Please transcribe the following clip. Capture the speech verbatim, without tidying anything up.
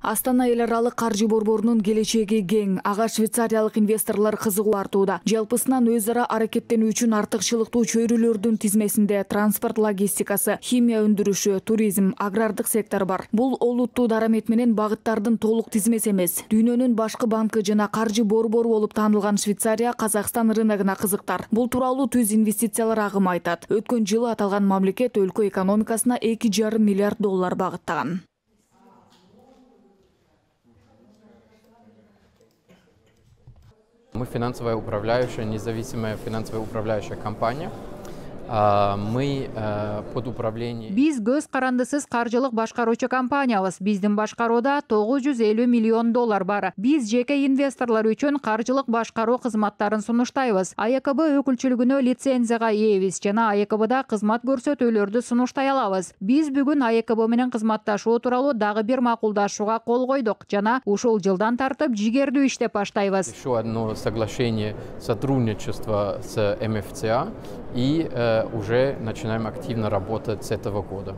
Астана эл аралык каржы борборунун келечеги кең. Ага швейцариялык инвесторлор кызыгуу артууда. Жалпысынан өз ара аракеттенүү үчүн артыкчылыктуу чөйрөлөрдүн тизмесинде транспорт логистикасы, химия өндүрүшү, туризм, агрардык сектор бар. Бул олуттуу дарамет менен багыттардын толук тизмеси эмес. Дүйнөнүн башкы банкы жана каржы борбору болуп таанылган Швейцария Казакстан рыногуна кызыктар. Бул тууралуу түз инвестициялар агымы айтат. Өткөн жылы аталган мамлекет өлкө экономикасына эки жарым миллиард доллар багыттаган. Мы финансовая управляющая, независимая финансовая управляющая компания. Мы под управлением. Биз көз карандысыз каржылык башкаруучу компаниябыз. Биздин башкарууда тогуз жүз элүү миллион доллар бар. Биз жеке инвесторлор үчүн каржылык башкаруу кызматтарын сунуштайбыз. А Е К Б өкүлчүлүгүнө лицензияга ээбиз жана А Е К Бда кызмат көрсөтүүлөрдү сунуштай алабыз. Биз бүгүн А Е К Б менен кызматташуу тууралуу дагы бир макулдашууга кол койдук жана ушул жылдан тартып жигердүү иштеп баштайбыз. Еще одно соглашение сотрудничества с М Ф Ц А и уже начинаем активно работать с этого года.